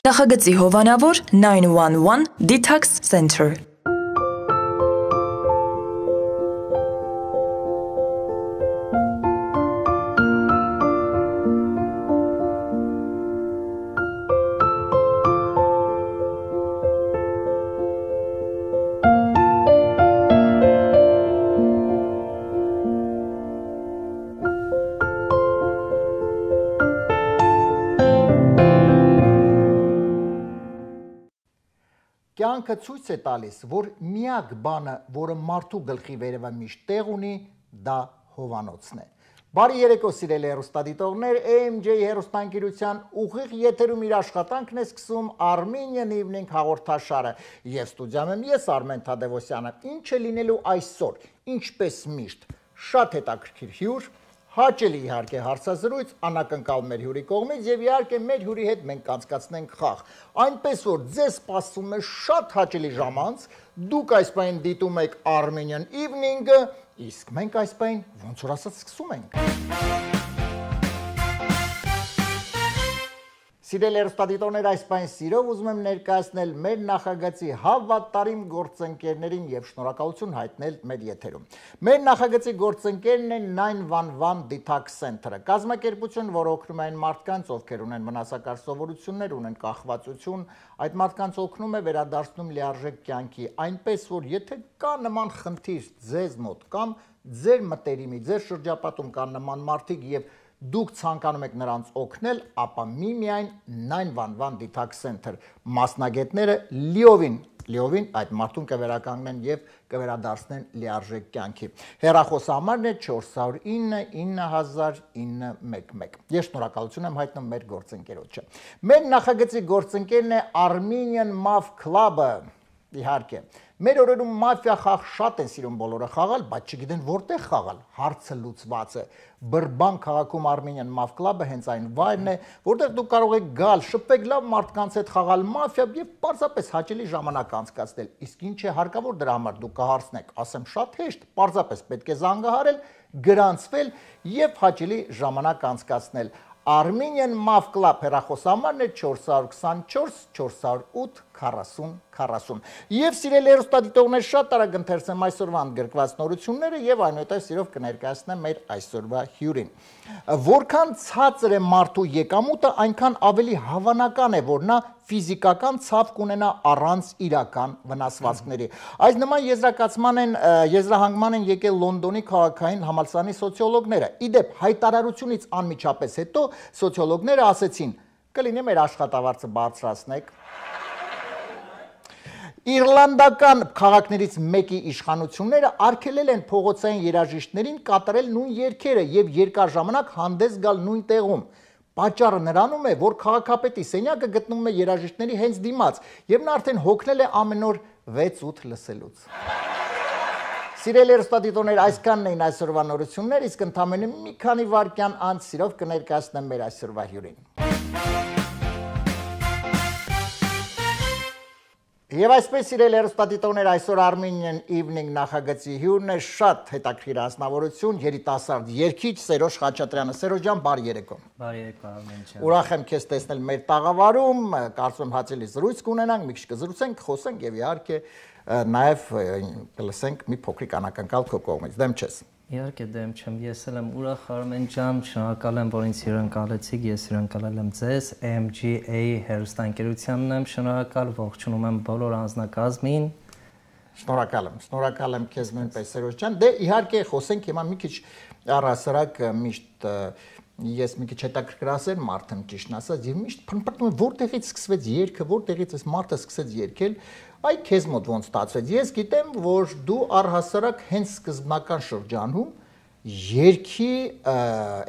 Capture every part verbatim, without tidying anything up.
Նախագծի հովանավոր nine one one Detox Center։ Կյանքը ցույց է տալիս, որ միակ բանը, որը մարդու գլխի վերևը միշտ տեղ ունի, դա հովանոցն է։ Բարի երեկո սիրելի հեռուստադիտողներ, A M J հեռուստաընկերության ուղիղ եթերում իր աշխատանքն է սկսում Armenian Evening հաղորդաշարը եւ ստուդիայում եմ ես Արմեն Թադևոսյանը։ Ինչ է լինելու այսօր, ինչպես միշտ, շատ հետաքրքիր հյուր, հաճելի իհարկե հարցազրույց, անակնկալ մեր հյուրի կողմից եւ իհարկե մեր հյուրի հետ մենք կանցկացնենք խաղ։ Այնպես որ ձեզ սպասում է շատ հաճելի ժամանց, դուք այս պայն դիտում եք Armenian Evening-ը, իսկ մենք այս պայն ոնց որ ասած սկսում ենք։ Սիրելի հեռուստադիտողներ, այս պայն սիրով ուզում եմ ներկայացնել մեր նախագծի հավատարիմ գործընկերներին եւ շնորհակալություն հայտնել մեր եթերում։ Մեր նախագծի գործընկերն է nine one one Detox Center-ը, կազմակերպություն, որը օգնում է այն մարդկանց, ովքեր ունեն մնասակար սովորություններ, ունեն կախվածություն, այդ մարդկանց օգնում է վերադարձնում լիարժեք կյանքի, այնպես որ եթե կա նման խնդիր ձեզ մոտ կամ ձեր մտերիմի, ձեր շրջապատում կան նման մարդիկ եւ դուք ցանկանում եք նրանց օգնել, ապա միմիայն nine one one Detox Center մասնագետները լիովին, լիովին այդ մարդուն կվերականգնեն եւ կվերադարձնեն լիարժեք կյանքի։ Հեռախոսահամարն է four zero nine nine zero zero nine one one։ Ես շնորհակալություն եմ հայտնում մեր գործընկերոջը։ Մեր նախագծի գործընկերն է Armenian Mav Club-ը, իհարկե։ Մեր օրերում մաֆիա խաղ շատ են սիրում բոլորը խաղալ, բայց չգիտեն որտեղ խաղալ, հարցը լուծված է։ Բրբան քաղաքում Armenian Mav Club-ը հենց այն վայրն է, որտեղ դուք կարող եք գալ, շփվել լավ մարդկանց հետ խաղալ մաֆիա եւ պարզապես հաճելի ժամանակ անցկացնել։ Իսկ ինչ է հարկավոր դրա համար դուք կհարցնեք, ասեմ շատ հեշտ, պարզապես պետք է զանգահարել, գրանցվել եւ հաճելի ժամանակ անցկացնել։ Armenian Mav Club հեռախոսահամարն է four two four four zero eight forty forty։ Եվ սիրելի հեռուստադիտողներ, շատ արագ ընթերցեմ այսօրվա ընդգրկված նորությունները եւ այնուհետեւ սիրով կներկայացնեմ մեր այսօրվա հյուրին։ Որքան ցածր է մարդու եկամուտը, այնքան ավելի հավանական է, որ նա ֆիզիկական ցավ կունենա առանց իրական վնասվածքների։ Այս նման եզրակացման են եզրահանգման են եկել Լոնդոնի քաղաքային համալսարանի սոցիոլոգները։ Իդեպ հայտարարությունից անմիջապես հետո սոցիոլոգները ասեցին. կլինի մեր աշխատավարձը բարձրացնեք։ Իռլանդական քաղաքներից մեկի իշխանությունները արգելել են փողոցային երաժիշտներին կատարել նույն երգերը եւ երկար ժամանակ հանդես գալ նույն տեղում։ Պատճառը նրանում է, որ քաղաքապետի սենյակը գտնվում է երաժիշտների հենց դիմաց եւ նա արդեն հոգնել է ամեն օր six eight լսելուց։ Սիրելի հեռուստադիտողներ, այսքանն էին այսօրվա նորությունները, իսկ ընդամենը մի քանի վայրկյան անց սիրով կներկայացնեմ մեր այսօրվա հյուրին։ Եվ այսպես սիրելի հեռուստադիտողներ, այսօր Armenian Evening նախագծի հյուրն է շատ հետաքրքիր անձնավորություն, երիտասարդ երգիչ Սերոժ Խաչատրյանը։ Սերոժ ջան, բարի երեկո։ Բարի երեկո, Արմեն ջան։ Ուրախ եմ քեզ տեսնել մեր տաղավարում, կարծում եմ հաճելի զրույց կունենանք, մի քիչ կզրուցենք, խոսենք եւ իհարկե նաեւ կլսենք մի փոքրիկ անակնկալ քո կողմից։ Դեմ չես։ Իհարկե դեմ չեմ, ես էլ եմ ուրախ Արմեն ջան, շնորհակալ եմ, որ ինձ հյուրընկալեցիք, ես հյուրընկալել եմ ձեզ, A M G A հեռուստաընկերությանն եմ շնորհակալ, ողջունում եմ բոլոր անձնակազմին։ Շնորհակալ եմ, շնորհակալ եմ քեզ նույնպես Սերոժ ջան։ Դե իհարկե խոսենք հիմա մի քիչ առհասարակ միշտ ես մի քիչ հետաքրքրասեր մարդ եմ ճիշտն ասած եւ միշտ փնփրտում եմ որտեղից սկսվեց երգը, որտեղից այս մարդը սկսեց երգել, այ քեզ մոտ ոնց ստացվեց։ Ես գիտեմ, որ դու առհասարակ հենց սկզբնական շրջանում երգի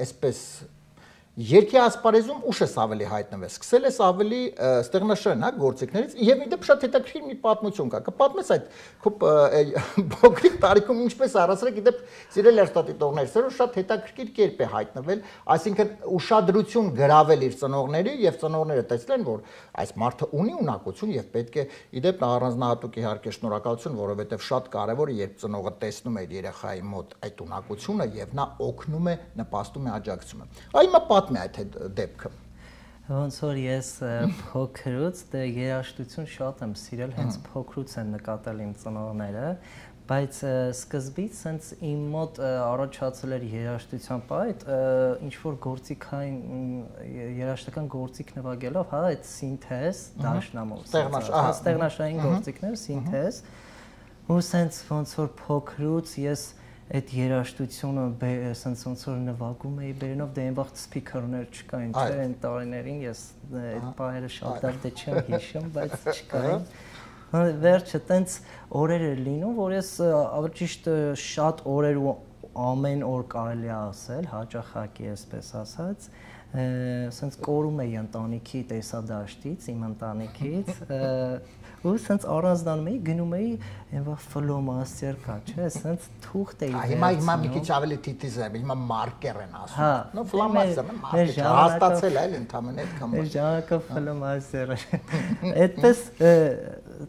այսպես երգի ասպարեզում ուշ ես ավելի հայտնվել, սկսել ես ավելի ստեղնաշարժ գործիքներից եւ իդեպ շատ հետաքրքիր մի պատմություն կա։ Կպատմես այդ քո փոքրիկ տարիքում ինչպես առասարակ իդեպ սիրել երթատիտողներ, սերո շատ հետաքրքիր կերպ է հայտնվել, այսինքն ուշադրություն գրավել իր ծնողների եւ ծնողները տեսնեն, որ այս մարդը ունի ունակություն եւ պետք է իդեպ առանձնահատուկ իհարկե շնորհակալություն, որովհետեւ շատ կարեւոր է, երբ ծնողը տեսնում է իր երեխայի մոտ այդ ունակությունը եւ նա օգնում է, նպաստում է, աջակցում է։ Այ մա պատմի այդ դեպքը։ Ոնց որ ես փոքրուց դե երաժշտություն շատ եմ սիրել, հենց փոքրուց են նկատել իմ ծնողները, բայց սկզբից sense իմ մոտ առաջացել էր երաժշտության պայտ, ինչ որ գործիքային երաժշտական գործիք նվագելով, հա, այդ սինթեզ, դաշնամուր, ստեղնաշային գործիքներ, սինթեզ, ու sense ոնց որ փոքրուց ես այդ երաժշտությունը sense ոնց որ նվագում էի բերելով, դե այն վաղ սփիքերներ չկային, չէ, այն տարիներին ես այդ պահերը շատ լավ դե չեմ հիշում, բայց չկային։ Վերջը տենց օրեր էր լինում, որ ես ավելի ճիշտ շատ օրեր ու ամեն օր կարելի է ասել, հաճախակի այսպես ասած, sense կորում էի ընտանիքի տեսադաշտից, իմ ընտանիքից, ու sense առանձնանում էի, գնում էի այնվա ֆլոմաստեր կա, չէ, sense թուղթ էի վերցնում։ Հիմա հիմա մի քիչ ավելի թիթիզ է, հիմա մարկեր են ասում։ Նո ֆլոմաստերն է, մարկեր, հաստացել է, այլ ընդամենը այդքան։ Մեր ժամանակը ֆլոմաստեր է։ Այդպես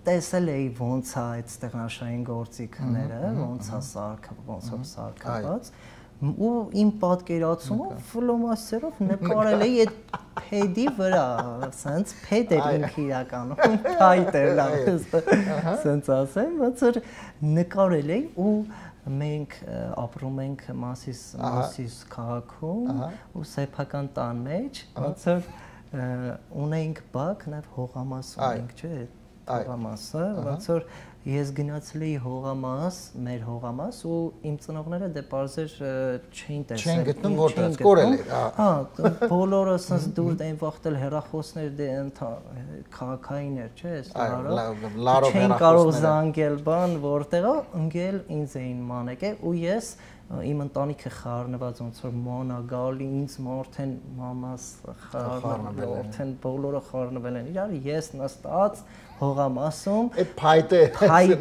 տեսել էի ոնց է այդ ստեղնաշային գործիքները, ոնց է սարքը, ոնց է սարքված, ու իմ պատկերացումը ֆլոմաստերով նկարել էի այդ փեդի վրա, sense փեդ էր ինքը իրականում, փայտ էր լավ, sense ասեմ, ոնց որ նկարել էի ու մենք ապրում ենք Մասիս Մասիս քաղաքում ու սեփական տան մեջ, ոնց որ ունեինք բակ, նաև հողամաս ունեինք, չէ՞, հողամասը, ոնց որ ես գնացել էի հողամաս, մեր հողամաս ու իմ ծնողները դե պարզեր չէին տեսել։ Չեն գտնում որտեղ կորել էր, հա, բոլորը sense դուր այն վախտել հեռախոսներ դե քաղաքային էր, չէ՞, ստարը։ Չեն կարող զանգել բան, որտեղը ընկել ինձ էին մանեկել ու ես իմ ընտանիքը խառնված ոնց որ մանա գալի ինձ մարդեն մամաս խառնվել են բոլորը խառնվել են իրար ես նստած հողամասում այդ փայտը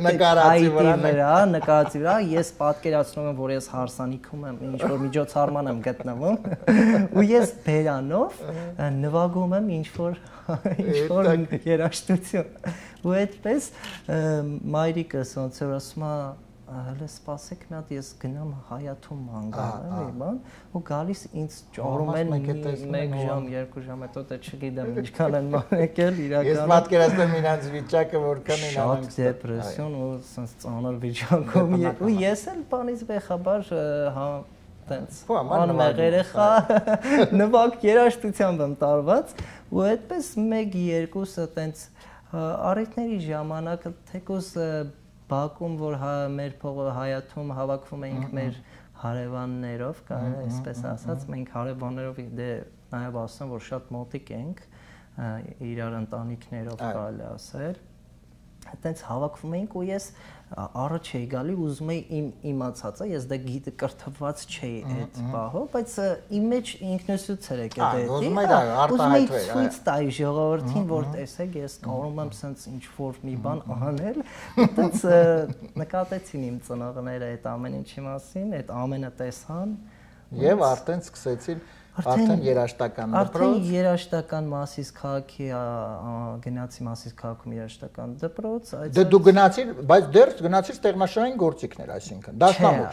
նկարածի վրա նկարածի վրա ես պատկերացնում եմ որ ես հարսանիքում եմ ինչ որ միջոցառման եմ գտնվում ու ես բերանով նվագում եմ ինչ որ ինչ որ երաժշտություն ու այդպես մայրիկս ոնց որ ասում է հələ սպասեք մի հատ ես գնամ հայաթում անգամ էլի բան ու գալիս ինձ ճորում են մեկ ժամ երկու ժամ հետո դե չգիտեմ ինչքան են մանեկել իրականում ես պատկերացնում եմ իրանց վիճակը որքան են շատ դեպրեսիոն ու sense ծանր վիճակում ու ես էլ բանից վեխաբար հա տենց անմեղ երեխա նվագ երաժշտությամբ եմ տարված ու այդպես մեկ երկուսը տենց առիթների ժամանակ թեկուզ Բակում, որ մեր փողը հայաթում հավաքվում էինք մեր հարևաններով, կարելի է այսպես ասած, մենք հարևաններով դե նաև ասեմ, որ շատ մոտիկ ենք իրար ընտանիքներով կարելի ասել։ Այդտենց հավաքվում էինք ու ես առաջ էի գալի ուզում էի իմ իմացածը, ես դա գիտի կրթված չէի այդ պահով, բայց իմ մեջ ինքնուսուց էր եկել դա։ Ուզում էի արտահայտվել։ Ցույց տայի ժողովրդին, որ տեսեք, ես կարող եմ sense ինչ որ մի բան անել։ Այդտենց նկատեցին իմ ծնողները այդ ամեն ինչի մասին, այդ ամենը տեսան եւ արդեն սկսեցին Արդեն երաշտական դպրոց։ Արդեն երաշտական Մասիս քաղաքի գնացի Մասիս քաղաքում երաշտական դպրոց, Դե դու գնացիր, բայց դեռ գնացիր ստեղնաշային գործիքներ, այսինքն դաշնամուր։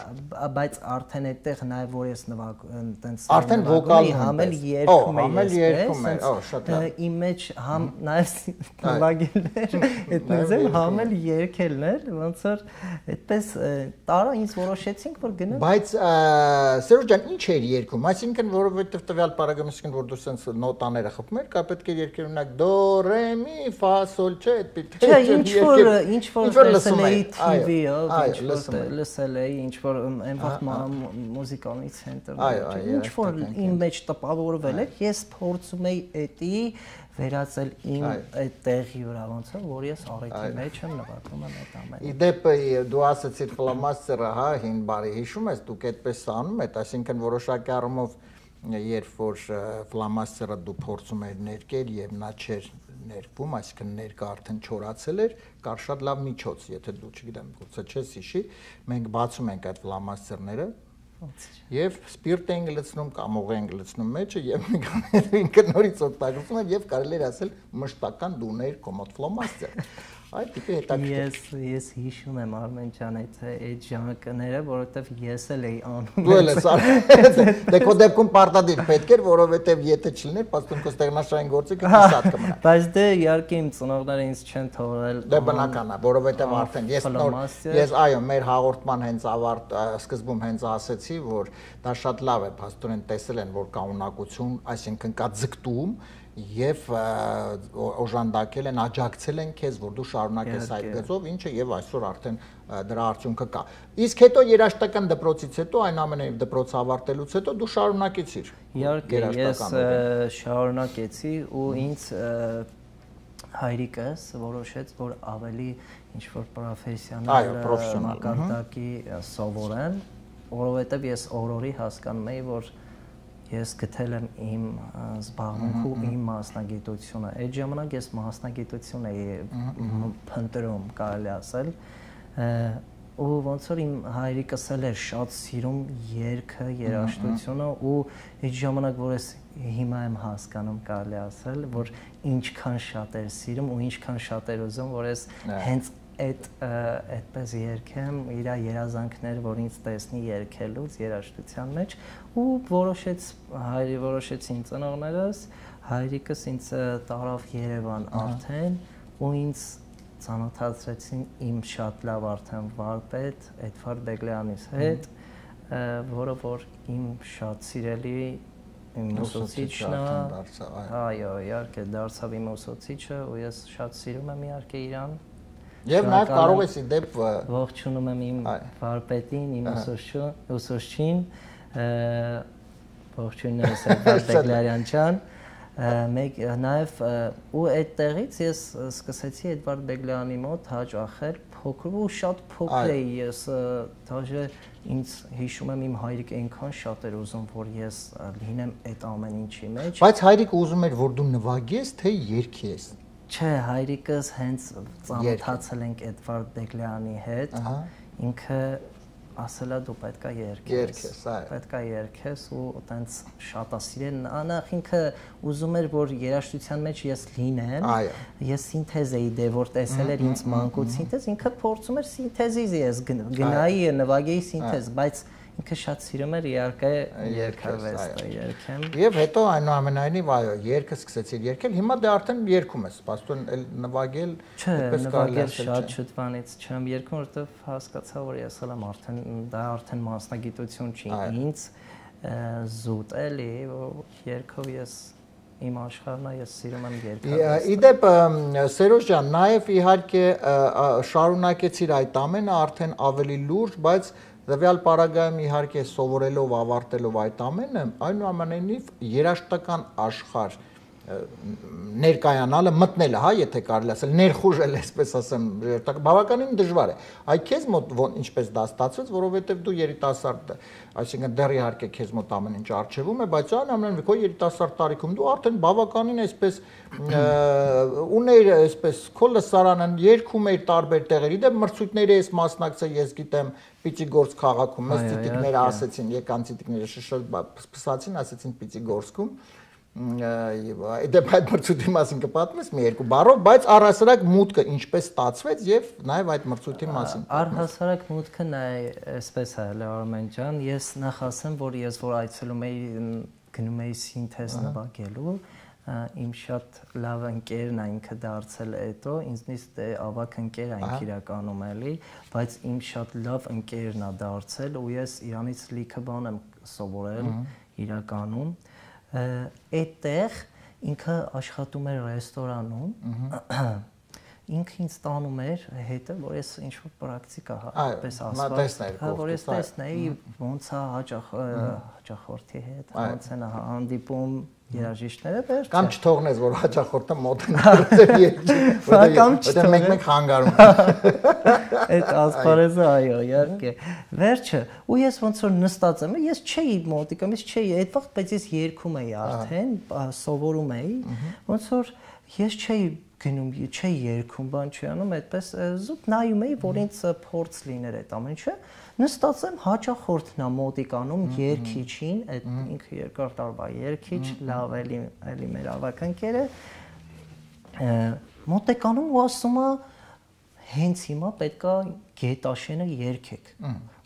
Բայց արդեն այդտեղ նաև որ ես նվագ տենց Արդեն վոկալ համել երգում էի։ Համել երգում էի, օ, շատ լավ։ Իմ մեջ համ նաև նվագելներ, այդպես էլ համել երգելներ, ոնց որ այդպես տարա ինձ որոշեցինք որ գնանք։ Բայց Սերոջ ջան, ինչ էր երգում, այսինքն որովհետեւ տվյալ պարագայում որ դու sense նոտաները խփում ես, կա պետք է երկեր ունենալ դո ռե մի ֆա սոլ չէ, պետք է ինչ որ ինչ որ լսել էի T V-ով, ինչ որ լսել էի, ինչ որ այն վաղ մուզիկալի ցենտրում, ինչ որ իմ մեջ տպավորվել էր, ես փորձում էի էտի վերածել իմ այդ տեղի վրա ոնց է որ ես առիթի մեջ եմ նվագում եմ այդ ամենը։ Իդեպ դու ասացիր ֆլոմաստերը, հա, հին բարի հիշում ես, դուք այդպես անում եք, այսինքն որոշակի առումով երբ որ ֆլոմաստերը դու փորձում ես ներկել եւ նա չէր ներկվում, այսինքն ներկա արդեն չորացել էր, կար շատ լավ միջոց, եթե դու չգիտեմ, գուցե չես հիշի, մենք բացում ենք այդ ֆլոմաստերները եւ սպիրտ ենք լցնում կամ օղ ենք լցնում մեջը եւ ինքը նորից օգտագործում եմ եւ կարելի է ասել մշտական դուներ կոմոդ ֆլոմաստեր։ Այդ տիպի հետաքրքիր։ Ես ես հիշում եմ Արմեն ջան այդ այդ ժամանակները, որովհետև ես էլ էի անում։ Դու էլ ես արել։ Դե քո դեպքում պարտադիր պետք էր, որովհետև եթե չլիներ, պաստում քո ստեղնաշային գործիքը քսատ կմնա։ Բայց դե իհարկե իմ ծնողները ինձ չեն թողել։ Դե բնական է, որովհետև արդեն ես նոր ես այո, մեր հաղորդման հենց ավարտ սկզբում հենց ասեցի, որ դա շատ լավ է, փաստորեն տեսել են, որ կա ունակություն, այսինքն կա ձգտում եւ օժանդակել են, աջակցել են քեզ, որ դու շարունակես այդ գծով, ինչը եւ այսօր արդեն դրա արդյունքը կա։ Իսկ հետո երաժշտական դպրոցից հետո, այն ամենայն դպրոցը ավարտելուց հետո դու շարունակեցիր։ Իհարկե, ես շարունակեցի ու ինձ հայրիկս որոշեց, որ ավելի ինչ որ պրոֆեսիոնալ մակարդակի սովորեմ, որովհետեւ ես օրորի հասկանում էի, որ ես գտել եմ իմ զբաղմունքը ու իմ մասնագիտությունը։ Այդ ժամանակ ես մասնագիտություն էի փնտրում, կարելի ասել, ու ոնց որ իմ հայրիկս էլ էր շատ սիրում երգը, երաժշտությունը ու այդ ժամանակ, որ ես հիմա եմ հասկանում, կարելի ասել, որ ինչքան շատ էր սիրում ու ինչքան շատ էր ուզում, որ ես հենց այդ այդպես երգեմ իր երազանքներ, որ ինձ տեսնի երգելուց երաժշտության մեջ ու որոշեց հայրի որոշեցին ծնողներս, հայրիկս ինձ տարավ Երևան արդեն ու ինձ ծանոթացրեցին իմ շատ լավ արդեն վարպետ Էդվարդ Բեգլյանից հետ, որը որ իմ շատ սիրելի իմ ուսուցիչն է, այո, իհարկե դարձավ իմ ուսուցիչը ու ես շատ սիրում եմ իհարկե իրան։ Եվ նաև կարող ես իդեպ ողջունում եմ իմ վարպետին, իմ ուսուցչին, ողջույններս Էդվարդ Բեգլարյան ջան, մեկ նաև ու այդտեղից ես սկսեցի Էդվարդ Բեգլյանի մոտ հաճախել փոքր ու շատ փոքր էի ես, դաժե ինձ հիշում եմ իմ հայրիկը այնքան շատ էր ուզում, որ ես լինեմ այդ ամեն ինչի մեջ։ Բայց հայրիկը ուզում էր, որ դու նվագես, թե երգես։ Չէ, հայրիկս հենց ծանոթացել ենք Էդվարդ Բեգլյանի հետ, ինքը ասել է դու պետք է երգես, պետք է երգես ու տենց շատ է սիրել, անախ ինքը ուզում էր, որ երաժշտության մեջ ես լինեմ, ես սինթեզ էի դե, որ տեսել էր ինձ մանկուց սինթեզ, ինքը փորձում էր սինթեզից ես գնայի, նվագեի սինթեզ, բայց ինքը շատ սիրում էր իհարկե երգարվեստը երգեմ։ Եվ հետո այնուամենայնիվ այո, երգը սկսեցիր երգել, հիմա դե արդեն երգում ես, պաստոն էլ նվագել, այդպես կարելի է շատ շուտվանից չեմ երգում, որովհետև հասկացա, որ ես էլ եմ արդեն դա արդեն մասնագիտություն չի ինձ զուտ էլի, երգով ես իմ աշխարհն է, ես սիրում եմ երգել։ Իդեպ Սերոժ ջան, նաև իհարկե շարունակեցիր այդ ամենը արդեն ավելի լուրջ, բայց Տվյալ պարագայում իհարկե սովորելով, ավարտելով այդ ամենը, այնուամենայնիվ երաժշտական աշխարհ ներկայանալը, մտնելը, հա, եթե կարելի ասել, ներխուժել, այսպես ասեմ, բավականին դժվար է։ Այ քեզ մոտ ինչպես դա ստացվեց, որովհետև դու երիտասարդ, այսինքն դեռ իհարկե քեզ մոտ ամեն ինչ արժևում է, բայց այնուամենայնիվ քո երիտասարդ տարիքում դու արդեն բավականին այսպես ուներ, այսպես քո լսարանը երգում էր տարբեր տեղերի, դե մրցույթների ես մասնակցել, ես գիտեմ, Պիճիգորսկ քաղաքում, մեզ ծիտիկները ասեցին, եկան ծիտիկները շշշացին, ասեցին Պիճիգորսկում, դեպ այդ մրցույթի մասին կպատմես մի երկու բառով, բայց առհասարակ մուտքը ինչպես ստացվեց եւ նաեւ այդ մրցույթի մասին։ Առհասարակ մուտքը նա այսպես է, Արմեն ջան, ես նախ ասեմ, որ ես որ այցելում էի գնում էի սինթեզ նվագելու, իմ շատ լավ ընկերն է ինքը դարձել հետո, ինձնից դե ավակ ընկեր է ինք իրականում էլի, բայց իմ շատ լավ ընկերն է դարձել ու ես իրանից լիքը բան եմ սովորել իրականում։ Այդտեղ ինքը աշխատում էր ռեստորանում, ինքը ինձ տանում էր հետը, որ ես ինչ-որ պրակտիկա այդպես ասված, որ ես տեսնեի ոնց է հաճախորդի հետ, ոնց են հանդիպում երաժիշտները վերջ կամ չթողնես որ հաճախորդը մոտենալու երկի որտեղ մեկ-մեկ խանգարում այդ ասպարեզը այո իհարկե վերջը ու ես ոնց որ նստած եմ ես չէի մոտիկամ ես չէի այդ վաղ բայց ես երգում էի արդեն սովորում էի ոնց որ ես չէի գնում չէի երգում բան չի անում այդպես զուտ նայում էի որ ինձ փորձ լիներ այդ ամեն ինչը նստած եմ հաճախորդն է մոտիկանում երգիչին, այդ ինքը երկար տարվա երգիչ, լավ էլի էլի մեր ավակ ընկերը մոտիկանում ու ասում է հենց հիմա պետքա Գետաշենը երգեք։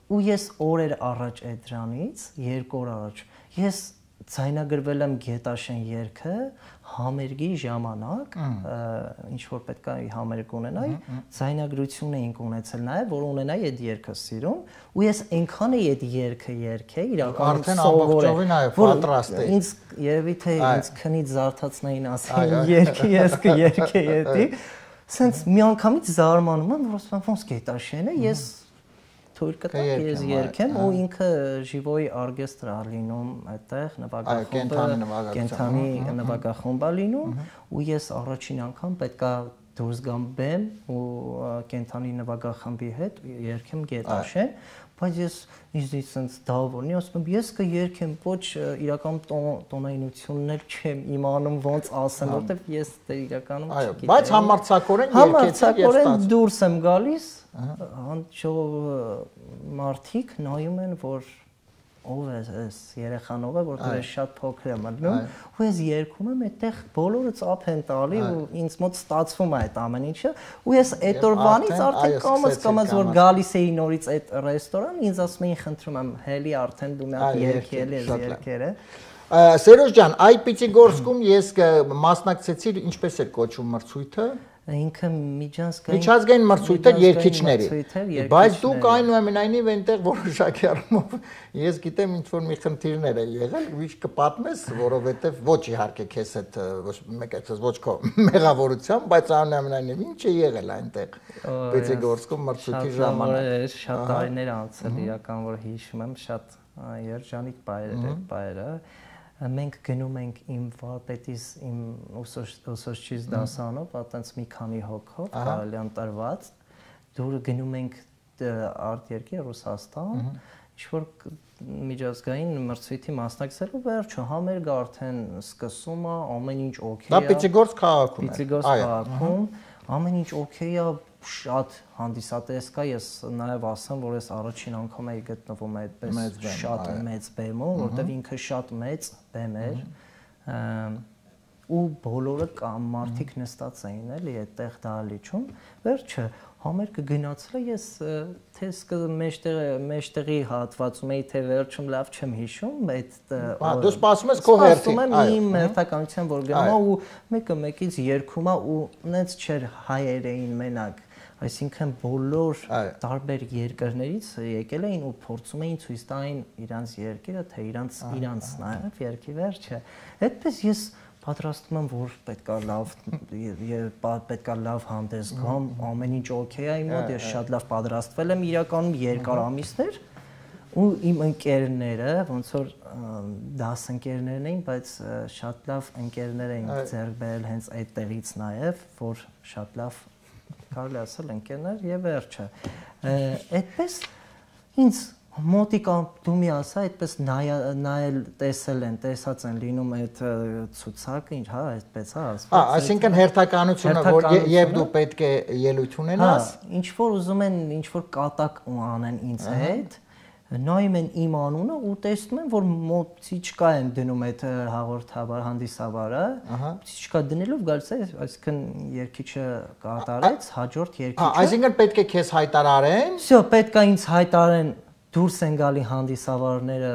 Ու ես օրեր առաջ այդ դրանից, երկու օր առաջ, ես ձայնագրվել եմ Գետաշեն երգը համերգի ժամանակ, ինչ որ պետքա համերգ ունենայի, ձայնագրություն էինք ունեցել նաև, որ ունենայի այդ երգը սիրում, ու ես այնքան էի այդ երգը երգել, իրականում սովորել, որ ինձ երևի թե ինձ քնից զարթացնային ասեն երգի, ես կերգեի էդի, սենց մի անգամից զարմանում եմ, որ ասում եմ ոնց Գետաշենը, ես թույլ կտա ես երգեմ ու ինքը Ժիվոյի արգեստրը լինում այդտեղ նվագախումբը կենթանի նվագախումբը լինում ու ես առաջին անգամ պետքա դուրս գամ բեմ ու կենթանի նվագախմբի հետ երգեմ Գետաշեն, բայց ես ինձնից sense դավորնի ասում եմ ես կերգեմ ոչ իրական տոնայնություններ չեմ իմանում ոնց ասեմ որտեվ ես դե իրականում չգիտեմ բայց համարձակորեն երգեցի եւ համարձակորեն դուրս եմ գալիս հանճով մարդիկ նայում են որ ով է այս երեխան ով է որտեղ ես շատ փոքր եմ մտնում ու ես երգում եմ այդտեղ բոլորը ծափ են տալի ու ինձ մոտ ստացվում է այդ ամեն ինչը ու ես այդ օրվանից արդեն կամաց կամաց որ գալիս էի նորից այդ ռեստորան ինձ ասում էին խնդրում եմ հելի արդեն դու մի հատ երգել ես երգերը Սերոժ ջան այ Պիտիգորսկում ես մասնակցեցի ինչպես էր կոչվում մրցույթը ինքը միջազգային միջազգային մրցույթ էր երգիչների բայց դուք այնուամենայնիվ այնտեղ որոշակի առումով ես գիտեմ ինչ որ մի խնդիրներ է եղել ու կպատմես որովհետև ոչ իհարկե քեզ հետ ոչ մեկ այսպես ոչ քո մեղավորությամբ բայց այնուամենայնիվ ինչ է եղել այնտեղ Պիտիգորսկում մրցույթի ժամանակ շատ տարիներ անցել իրական որ հիշում եմ շատ երջանիկ բայեր էր բայերը մենք գնում ենք իմ վարպետիս իմ ուսուցչից դասանով, այտենց մի քանի հոգով, կարելյան տրված, դուր գնում ենք արտերկիր Ռուսաստան, ինչ-որ միջազգային մրցույթի մասնակցելու վերջը համերգը արդեն սկսում է, ամեն ինչ օքեյ է։ Դա Պիտիգորսկ քաղաքում է։ Պիտիգորսկ քաղաքում, ամեն ինչ օքեյ է, շատ հանդիսատես կա, ես նաև ասեմ, որ ես առաջին անգամ էի գտնվում այդպես շատ մեծ բեմում, որտեղ ինքը շատ մեծ բեմ էր ու բոլորը կամ մարդիկ նստած էին էլի այդտեղ դահլիճում, վերջը համերգը գնացել է ես թե մեջտեղի մեջտեղի հատվածում էի թե վերջում լավ չեմ հիշում այդ դու սպասում ես քո հերթին այո իմ հերթականության որ գնում է ու մեկը մեկից երգում է ու նենց չէր հայեր էին մենակ այսինքն բոլոր տարբեր երկրներից եկել էին ու փորձում էին ցույց տային իրանց երկիրը թե իրանց իրանց նաև երկի վերջը այդպես ես պատրաստում եմ որ պետքա լավ պետքա լավ հանդես գամ ամեն ինչ օքեյ է իմ մոտ ես շատ լավ պատրաստվել եմ իրականում երկար ամիսներ ու իմ ընկերները ոնց որ դասընկերներն էին բայց շատ լավ ընկերներ էին ձեռք բերել հենց այդտեղից նաև որ շատ լավ կարելի ասել ընկերներ եւ վերջը այդպես ինձ մոտիկա դու մի ասա այդպես նայել տեսել են տեսած են լինում այդ ցուցակը ինչ հա այդպես հա ասում հա այսինքն հերթականությունը որ եւ դու պետք է ելույթ ունենաս ինչ որ ուզում են ինչ որ կատակ անեն ինձ հետ նայում են իմ անունը ու տեսնում են որ մոծիչկա են դնում այդ հաղորդավար հանդիսավարը մոծիչկա դնելով գալիս է այսինքն երկիչը կատարեց հաջորդ երկիչը այսինքն պետք է քեզ հայտարարեն всё պետք է ինձ հայտարարեն դուրս են գալի հանդիսավարները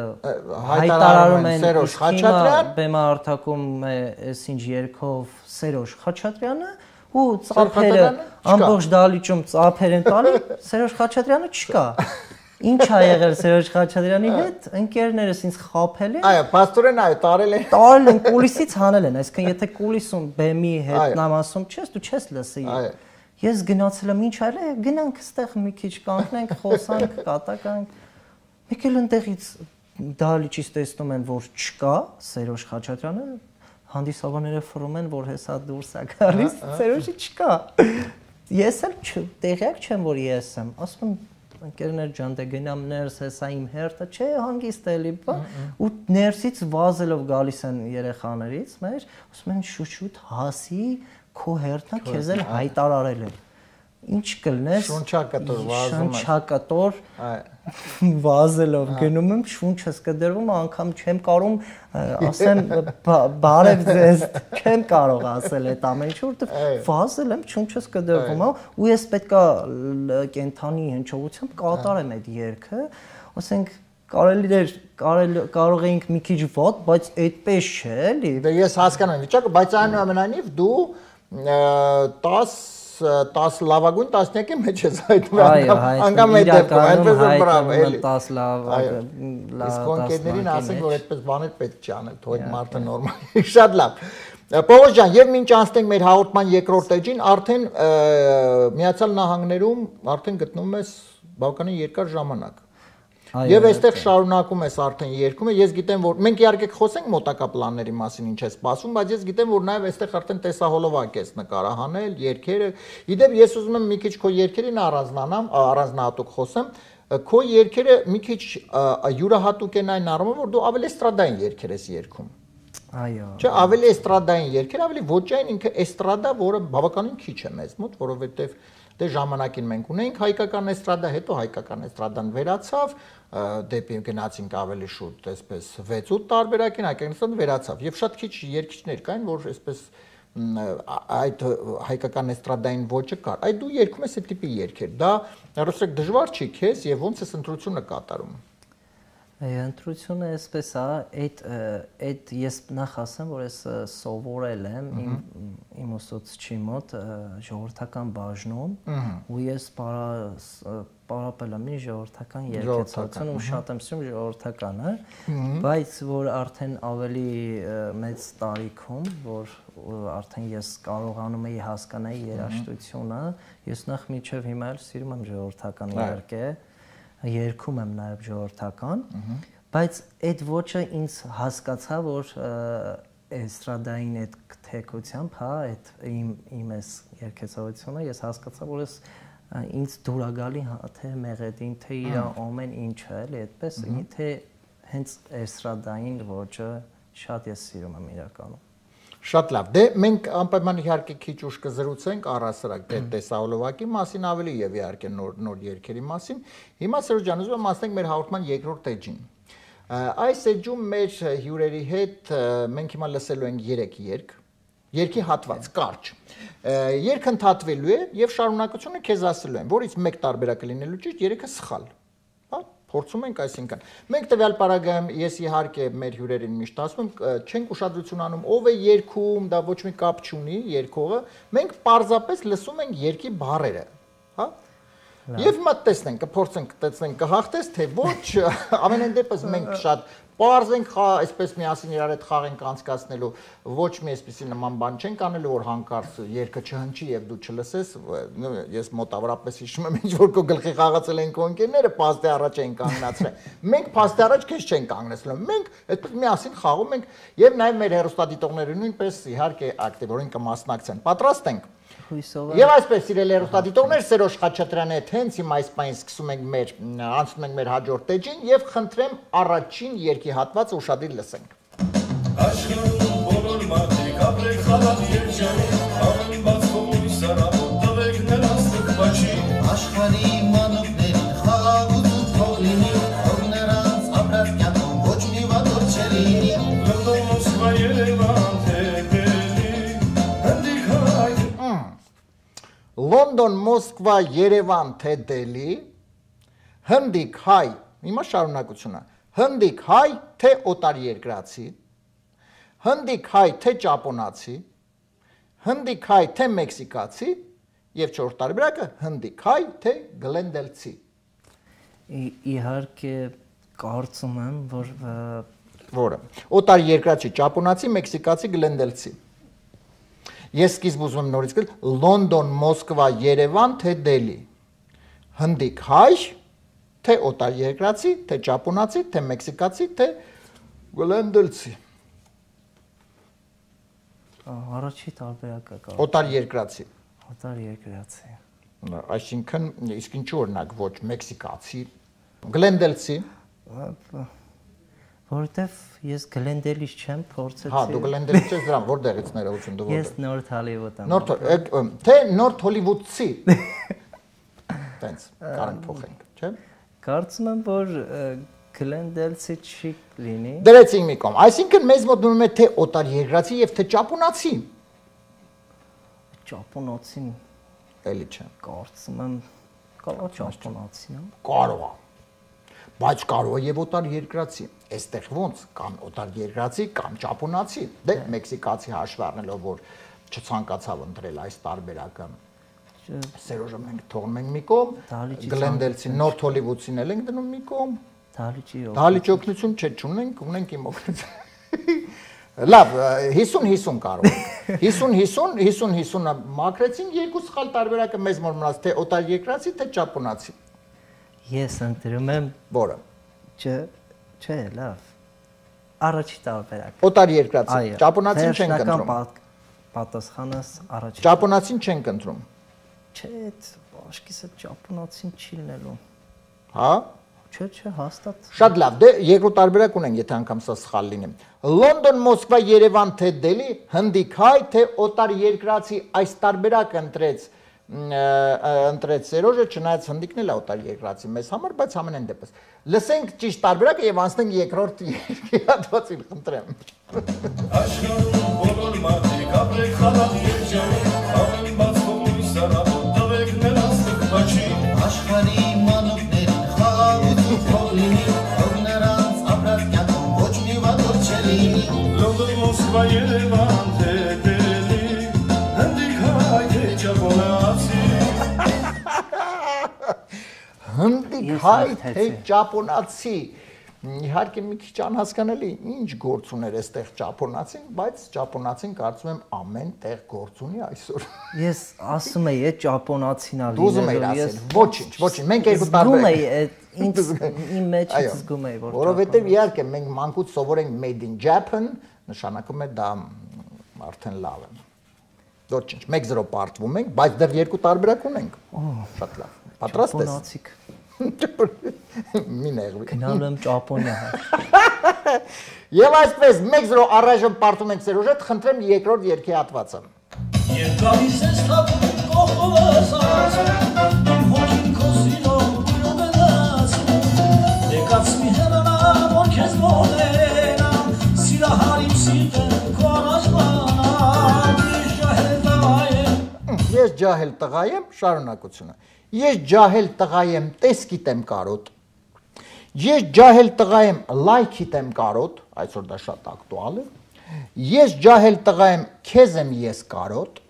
հայտարարում են Սերոժ Խաչատրյան բեմարտակում է այսինչ երկով Սերոժ Խաչատրյանը ու ծափերը ամբողջ դահլիճում ծափեր են տալի Սերոժ Խաչատրյանը չկա Ինչ ա եղել Սերոժ Խաչատրյանի հետ ընկերներս ինձ խաբել են Այո պաստորեն այո տարել են տարել են կուլիսից հանել են այսինքն եթե կուլիսում բեմի հետ նամասում չես դու չես լսի ես գնացել եմ ինչ արել է գնանք այստեղ մի քիչ կանգնենք խոսանք կատականք մեկ էլ ընտեղից դահլիճից տեսնում են որ չկա Սերոժ Խաչատրյանը հանդիսավարները ֆռում են որ հեսա դուրս է գալիս Սերոժի չկա ես էլ տեղյակ չեմ որ ես եմ ասում ընկերներ ջան դե գնամ ներս հեսա իմ հերթը չէ հանգիստ էլի բա ու ներսից վազելով գալիս են երեխաներից մեր ասում են շուշուտ հասի քո հերթը քեզ էլ հայտարարել են ինչ կլնես շունչակատոր վազում է շունչակատոր վազելով գնում եմ շունչս կդրվում անգամ չեմ կարող ասեմ բարև ձեզ չեմ կարող ասել այդ ամեն ինչ որտեղ վազել եմ շունչս կդրվում ու ես պետքա կենթանի հնչողությամբ կատարեմ այդ երգը ասենք կարելի էր կարող էինք մի քիչ վատ բայց այդպես չէ էլի դե ես հասկանում եմ վիճակը բայց այնուամենայնիվ դու տասը տասը լավագույն տասնյակի մեջ ես հայտնվում անգամ այդ դեպքում այդպես է բրավ էլի տասը լավ իսկ կոնկերներին ասենք որ այդպես բաներ պետք չի անել թող այդ մարդը նորմալ է շատ լավ Պողոս ջան եւ մինչ անցնենք մեր հաղորդման երկրորդ էջին արդեն Միացյալ Նահանգներում արդեն գտնվում ես բավականին երկար ժամանակ Եվ այստեղ շարունակում ես արդեն երկումը, ես գիտեմ, որ մենք իհարկե խոսենք մոտակա պլանների մասին ինչ է սպասում, բայց ես գիտեմ, որ նաև այստեղ արդեն տեսահոլովակ ես նկարահանել, երգերը։ Իդեպ ես ուզում եմ մի քիչ քո երգերին առանձնանամ, առանձնահատուկ խոսեմ, քո երգերը մի քիչ յուրահատուկ են այն առումով, որ դու ավելի էստրադային երգեր ես երգում։ Այո։ Չէ, ավելի էստրադային երգեր, ավելի ոճային ինքը էստրադա, որը բավականին քիչ է մեզ մոտ, որովհետև դե ժամանակին մենք ունեինք հայկական էստրադա, հետո հայկական էստրադան վերացավ, դեպի գնացինք ավելի շուտ, այսպես վեց-ութ տարբերակին հայկական էստրադան վերացավ եւ շատ քիչ երգիչներ կային, որ այսպես այդ հայկական էստրադային ոճը կար։ Այդ դու երգում ես այդ տիպի երգեր։ Դա ռուսիկ դժվար չի քեզ եւ ոնց ես ընտրությունը կատարում։ Ընտրությունը այսպես է, այդ այդ ես նախ ասեմ, որ ես սովորել եմ իմ իմ ուսուցչի մոտ ժողովրդական բաժնում ու ես պարապել եմ ժողովրդական երգեցություն ու շատ եմ սիրում ժողովրդականը, բայց որ արդեն ավելի մեծ տարիքում, որ արդեն ես կարողանում էի հասկանալ երաժշտությունը, ես նախ միջև հիմա էլ սիրում եմ ժողովրդական երգը երգում եմ նաև ժողովրդական, բայց այդ ոճը ինձ հասկացա, որ էստրադային այդ թեկությամբ, հա, այդ իմ իմ էս երգեցողությունը ես հասկացա, որ ես ինձ դուր է գալի թե մեղեդին, թե իր ամեն ինչը, էլի, այդպես, թե հենց էստրադային ոճը շատ ես սիրում եմ իրականում։ Շատ լավ։ Դե մենք անպայման իհարկե քիչ ուշ կզրուցենք առհասարակ դե տեսահոլովակի մասին ավելի եւ իհարկե նոր նոր երգերի մասին։ Հիմա Սերժ ջան, ուզում եմ ասենք մեր հաղորդման երկրորդ էջին։ Այս էջում մեր հյուրերի հետ մենք հիմա լսելու ենք երեք երգ, երգի հատված, կարճ։ Երգը ընդհատվելու է եւ շարունակությունը քեզ ասելու եմ, որից մեկ տարբերակը լինելու ճիշտ, երեքը սխալ։ Փորձում ենք, այսինքն մենք տվյալ պարագայում ես իհարկե մեր հյուրերին միշտ ասում եմ չենք ուշադրություն անում ով է երգում, դա ոչ մի կապ չունի երգողը, մենք պարզապես լսում ենք երգի բառերը, հա? Եվ հիմա տեսնենք, կփորձենք տեսնենք կհաղթես թե ոչ, ամենայն դեպս մենք շատ պարզ ենք այսպես միասին իրար հետ խաղ ենք անցկացնելու, ոչ մի այսպիսի նման բան չենք անելու, որ հանկարծ երգը չհնչի եւ դու չլսես, ես մոտավորապես հիշում եմ ինչ որ քո գլխի խաղացել են քո ընկերները, փաստի առաջ են կանգնացրել։ Մենք փաստի առաջ քեզ չենք կանգնեցնում, մենք այդպես միասին խաղում ենք եւ նաեւ մեր հեռուստադիտողները նույնպես իհարկե ակտիվորեն կմասնակցեն։ Պատրաստ ենք։ Եվ այսպես սիրելի հեռուստադիտողներ, Սերոժ Խաչատրյանի հետ հենց հիմա այս պայն սկսում ենք մեր անցնում ենք մեր հաջորդ էջին եւ խնդրեմ առաջին երգի հատվածը ուշադիր լսենք։ Աշխարհում բոլոր մարդիկ ապրեք խալատ երջանի, ամեն բաց կողմի սարավոտ տվեք նրանց տկվաչի, աշխարհի մանուկներին խաղաղություն թող լինի, որ նրանց ապրած կյանքում ոչ մի վատոր չլինի, Լոնդոն, Մոսկվա, Երևան, Լոնդոն, Մոսկվա, Երևան, թե Դելի, հնդիկ, հայ, հիմա շարունակությունը, հնդիկ, հայ, թե օտարերկրացի, հնդիկ, հայ, թե ճապոնացի, հնդիկ, հայ, թե մեքսիկացի եւ չորրորդ տարբերակը հնդիկ, հայ, թե գլենդելցի։ Իհարկե կարծում եմ, որ որը օտարերկրացի, ճապոնացի, մեքսիկացի, գլենդելցի։ Ես սկիզբ ուզում եմ նորից գալ Լոնդոն, Մոսկվա, Երևան, թե Դելի, հնդիկ, հայ, թե օտարերկրացի, թե ճապոնացի, թե մեքսիկացի, թե գլենդելցի։ Առաջի տարբերակը կա։ Օտարերկրացի։ Օտարերկրացի։ Այսինքն իսկ ինչու օրինակ ոչ մեքսիկացի, գլենդելցի։ Որտեվ ես գլենդելից չեմ փորձեցի։ Հա, դու գլենդելից ես դրան որտեղից ներողություն դու որտեղ։ Ես Նորթ Հոլիվուդ եմ։ Նորթ թե Նորթ Հոլիվուդցի։ Տենց կարանք փոխենք, չէ՞։ Կարծում եմ, որ գլենդելցի չի լինի։ Դրեցինք մի կողմ։ Այսինքն մեզ մոտ դնում է թե օտար երկրացի եւ թե ճապոնացի։ Ճապոնացին Էլի չէ։ կարծում եմ կարող ճապոնացին։ Կարող է։ Բայց կարող է եւ օտար երկրացի։ Այստեղ ոնց կան օտար երկրացի, կան ճապոնացի։ Դե մեքսիկացի հաշվի առնելով, որ չցանկացավ ընտրել այս տարբերակը։ Սերոժը մենք թողնում ենք մի կողմ, գլենդելցի նորթ հոլիվուդցին էլ ենք դնում մի կողմ։ Դալիճի Դալիճի օգնություն չէ, չունենք, ունենք իմ օգնություն։ Լավ, հիսուն հիսուն կարող ենք։ հիսուն հիսուն, հիսուն հիսունը մաքրեցինք, երկու սխալ տարբերակը մեզ մոտ մնաց, թե օտար երկրացի, թե ճապոնացի։ Ես ընտրում եմ Որը։ Չէ, չէ, լավ։ Առաջի տարբերակ։ Օտար երկրացի, ճապոնացին չենք ընտրում։ Պատասխանս առաջի։ Ճապոնացին չենք ընտրում։ Չէ, աշկիսը ճապոնացին չի լինելու։ Հա։ Չէ, չէ, հաստատ։ Շատ լավ, դե երկրորդ տարբերակ ունենք, եթե անգամ սա սխալ լինի։ Լոնդոն, Մոսկվա, Երևան, թե Դելի, հնդիկ հայ, թե օտար երկրացի այս տարբերակը ընտրեց ընտրեց Սերոժը, չնայած հնդիկն էլ օտար երկրացի մեզ համար, բայց ամենայն դեպս։ Լսենք ճիշտ տարբերակը եւ անցնենք երկրորդ հատվածին, խնդրեմ։ Աշխարհում բոլոր մարդիկ ապրեք խաղաղ երջանիկ, ամեն բաց հողույց սարապ տվեք նրանց տղմաչի։ Աշխարհի մանուկներին խաղաղություն թող լինի, թող նրանց ապրած կյանքում ոչ մի վատոր չլինի։ Լոնդոն, Մոսկվա, Երևան, թե Դելի, հնդիկ հայ, թե ճապոնացի։ Հնդիկ հայ, թե ճապոնացի։ Իհարկե մի քիչ անհասկանալի, ինչ գործ ուներ այստեղ ճապոնացին, բայց ճապոնացին կարծում եմ ամեն տեղ գործ ունի այսօր։ Ես ասում եի, այդ ճապոնացին ա Դու ուզում էիր ասել, ոչինչ, ոչինչ, մենք երկու տարբերակ։ Ինձ իմ մեջ զգում էի, որ որովհետև իհարկե մենք մանկուց սովորենք made in Japan, նշանակում է դա արդեն լավ է։ Ոչինչ, մեկ զրո պարտվում ենք, բայց դեռ երկու տարբերակ ունենք։ Շատ լավ։ Պատրաստ ես։ ճապոնացիկ։ Մի նեղվի։ Գնալու եմ Ճապոնիա։ Եվ այսպես մեկ զրո առայժմ պարտում ենք Սերոժ հետ, խնդրեմ երկրորդ երգի հատվածը։ Երբ գալիս ես թափում կողքովս ասում, իմ հոգին քո սիրով բուրում է դասում, եկած մի հենանա, որ քեզ մոտենամ, սիրահարիմ սիրտը քո առաջվանամ, ես ջահել տղա եմ։ Ես ջահել տղա եմ, շարունակությունը։ Ես ջահել տղա եմ, տեսքիտ եմ կարոտ։ Ես ջահել տղա եմ, լայքիտ եմ կարոտ, այսօր դա շատ ակտուալ է։ Ես ջահել տղա եմ, քեզ եմ ես կարոտ։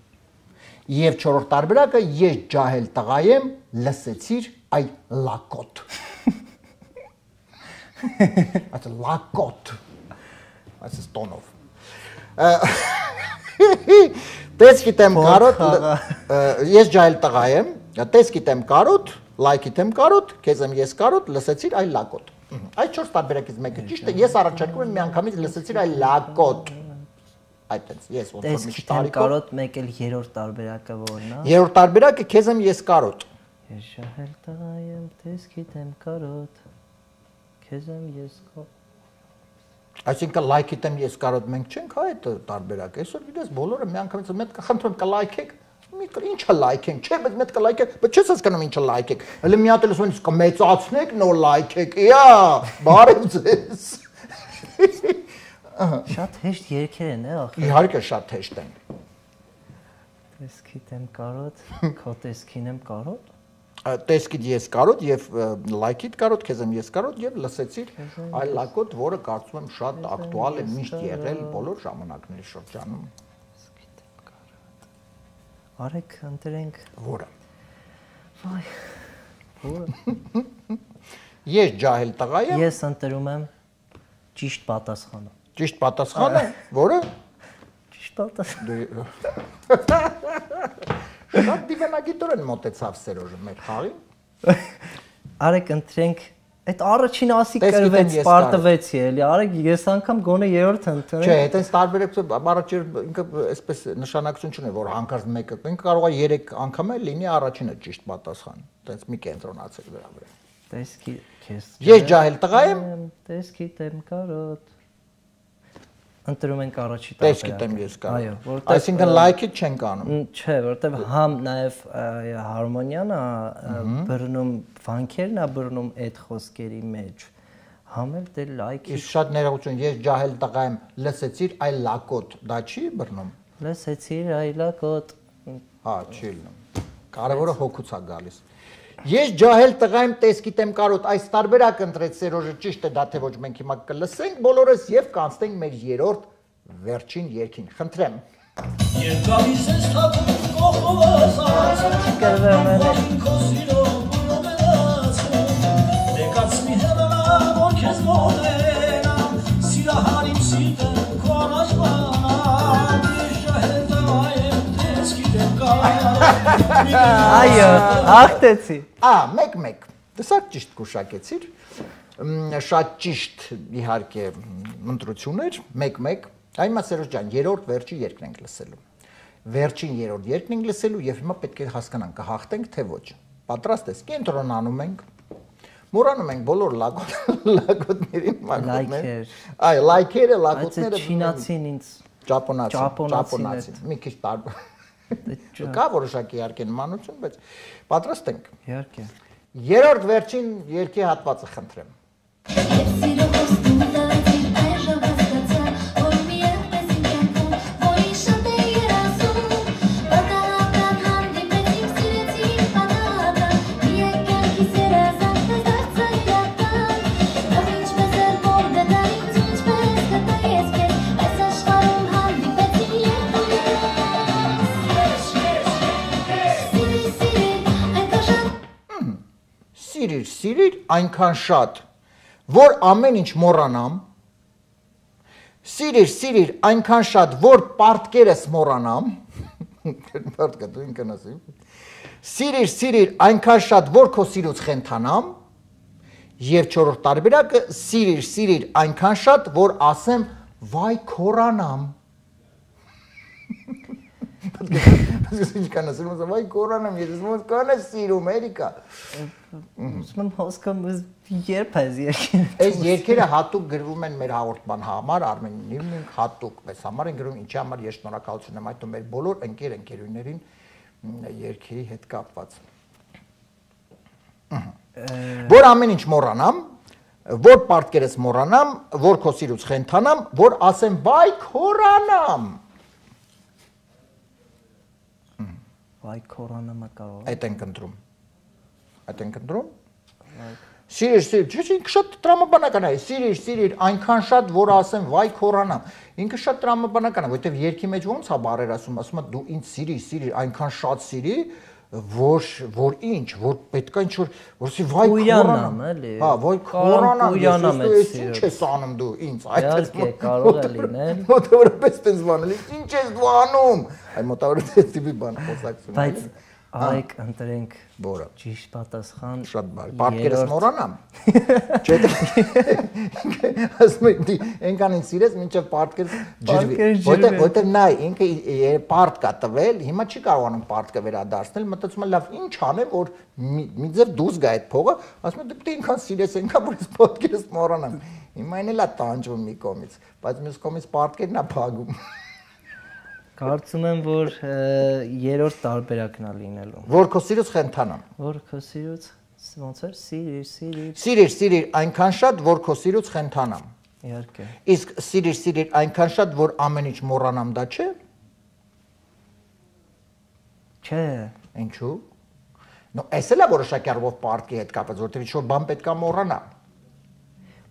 Եվ չորրորդ տարբերակը ես ջահել տղա եմ, լսեցիր այ լակոտ։ Այդ լակոտ։ Այս տոնով։ Տեսքիտ եմ կարոտ, ես ջահել տղա եմ, տեսքիտ եմ կարոտ, լայքիտ եմ կարոտ, քեզ եմ ես կարոտ, լսեցիր այ լակոտ։ Այդ չորս տարբերակից մեկը ճիշտ է, ես առաջարկում եմ միանգամից լսեցիր այ լակոտ։ Այդտենց, ես ոնց որ մի տարիքով կարոտ մեկ էլ երրորդ տարբերակը որն է։ Երրորդ տարբերակը քեզ եմ ես կարոտ։ Ես ջահել տղա եմ, տեսքիտ եմ կարոտ, քեզ եմ ես կարոտ։ Այսինքն լայքիտ եմ ես կարոտ մենք չենք հա այդ տարբերակը։ Այսօր գիտես բոլորը միանգամից մեկ խնդրում կլայքեք, մի ինչա լայքենք, չէ, բայց մեկ կլայքեք, բայց չես հասկանում ինչա լայքեք։ Հələ մի հատ էլ ասում են կմեծացնեք, նոր լայքեք։ Իա, բարև ձեզ։ Շատ հեշտ երգեր են, է ախր։ Իհարկե շատ հեշտ են։ Տեսքիտ եմ կարոտ, քո տեսքին եմ կարոտ։ Տեսքիդ ես կարոտ եւ լայքիդ կարոտ, քեզ եմ ես կարոտ եւ լսեցիր այ լակոտ, որը կարծում եմ շատ ակտուալ է միշտ եղել բոլոր ժամանակների շրջանում։ Տեսքիտ եմ կարոտ։ Արեք ընտրենք Որը։ Վայ։ Որը։ Ես ջահել տղա եմ։ Ես ընտրում եմ ճիշտ պատասխանը։ Ճիշտ պատասխանը, որը։ Ճիշտ պատասխանը։ Շատ դիվանագիտորեն մոտեցավ Սերոժը մեր խաղին։ Արեք ընտրենք այդ առաջին ասի կրվեց, պարտվեցի էլի։ Արեք ես անգամ գոնե երրորդ ընտրեմ։ Չէ, այտենց տարբերակ առաջին ինքը այսպես նշանակություն չունի, որ հանկարծ մեկը ինքը կարող է երեք անգամ էլ լինի առաջինը ճիշտ պատասխան։ Այտենց մի կենտրոնացեք դրա վրա։ Տեսքի քեզ։ Ես ջահել տղա եմ։ Տեսքիտ եմ կարոտ։ Ընտրում ենք առաջի Տես գիտեմ ես կարող։ Այո, որտեղ Այսինքն like-ը չենք անում։ Չէ, որտեղ համ նաև հարմոնիան է բռնում վանքերն է բռնում այդ խոսքերի մեջ։ Համ էլ դե like-ի Իսկ շատ ներողություն, ես ջահել տղա եմ, լսեցիր այ լակոտ, դա չի բռնում։ լսեցիր այ լակոտ։ Հա, չի լինում։ Կարևորը հոգուց է գալիս։ Ես ջահել տղա եմ, տես գիտեմ կարոտ, այս տարբերակ ընտրեց Սերոժը, ճիշտ է դա թե ոչ մենք հիմա կլսենք բոլորս եւ կանցնենք մեր երրորդ վերջին երգին։ Խնդրեմ։ Երբ գալիս ես թափում կողմովս արածը Որին քո սիրո բուրում է լացում Դեկացնի հետանա, որ քեզ մոտենամ Սիրահարիմ սիրտը քո առաջ բանամ Իշահել տղա եմ, տես գիտեմ կարոտ Այո, հաղթեցի։ Ա, մեկ-մեկ, դեսակ ճիշտ կուշակեցիր, շատ ճիշտ իհարկե ընտրություններ, մեկ-մեկ, այմա Սերոժ ջան, երրորդ վերջի երկն ենք լսելու, վերջին երրորդ երկն ենք լսելու և հիմա պետք է հասկանանք, կհաղթենք թե ոչ, պատրաստ ես, կենտրոնանում ենք, մորանում ենք բոլոր լակոտներին, այ, լայքերը, լակոտները, Այդ չինացին ինձ, ճապոնացին, մի քիչ տարբեր Կա որոշակի իհարկե նմանություն, բայց պատրաստ ենք։ Իհարկե։ Երրորդ վերջին երկի հատվածը խնդրեմ։ Սիրիր, սիրիր այնքան շատ, որ ամեն ինչ մոռանամ, սիրիր, սիրիր այնքան շատ, որ պարտքերս մոռանամ, պարտքը դու ինքն ասի, սիրիր, սիրիր այնքան շատ, որ քո սիրուց խենթանամ, եւ չորրորդ տարբերակը սիրիր, սիրիր այնքան շատ, որ ասեմ վայ քորանամ։ Ինչ կան ասում, վայ կորանամ, ես ոնց կանես սիրում, Էրիկա։ Ուսման հոսքամ երբ այս երկերը։ Այս երկերը հատուկ գրվում են մեր հաղորդման համար, Արմենին ենք հատուկ, մեզ համար են գրում, ինչի համար ես շնորհակալություն եմ այդում մեր բոլոր ընկեր ընկերուներին երկերի հետ կապված։ Որ ամեն ինչ մոռանամ, որ պարտքերս մոռանամ, որ քո սիրուց խենթանամ, որ ասեմ վայ քորանամ։ Վայ քորանամը կարող։ Այդ ենք ընտրում։ Այդ ենք ընտրում։ Սիրիր, սիրիր, ինքը շատ տրամաբանական է, սիրիր, սիրիր, այնքան շատ, որ ասեմ վայ քորանամ։ Ինքը շատ տրամաբանական է, որովհետև երկի մեջ ոնց է բառեր ասում, ասում է դու ինձ սիրիր, սիրիր, այնքան շատ սիրի, որ որ ինչ, որ պետք է ինչ որ որսի վայ քորանամ, էլի։ Հա, վայ քորանամ, Ույանամ ես ինչ ես անում դու ինձ, Իհարկե, կարող է լինել։ Մոտավորապես տես բանել, ինչ ես դու անում։ Այ մոտավորապես այս տիպի բան խոսակցում։ Բայց այք ընտրենք Որը։ ճիշտ պատասխան։ Շատ բարի։ Պարտքերս մոռանամ։ Չէ՞ ասում եմ, այնքան ինձ սիրես, մինչև պարտքերս ջրվի։ Որտեղ որտեղ նայ, ինքը պարտ կա տվել, հիմա չի կարողանում պարտքը վերադարձնել, մտածում եմ, լավ, ինչ անեմ, որ մի ձև դուրս գա այդ փողը, ասում եմ, դե ինքան սիրես, այնքան որ ես պարտքերս մոռանամ։ Հիմա այն էլ է տանջվում մի կողմից, բայց մյուս կողմից պարտքերն է փագում։ Կարծում եմ, որ երրորդ տարբերակն է լինելու։ Որ քո սիրուց խենթանամ։ Որ քո սիրուց ոնց էր սիրիր, սիրիր։ Սիրիր, սիրիր այնքան շատ, որ քո սիրուց խենթանամ։ Իհարկե։ Իսկ սիրիր, սիրիր այնքան շատ, որ ամեն ինչ մոռանամ, դա չէ։ Չէ։ Ինչու՞։ Նո, այս էլ է որոշակի առումով պարտքի հետ կապված, որտեղ ինչ-որ բան պետք է մոռանա։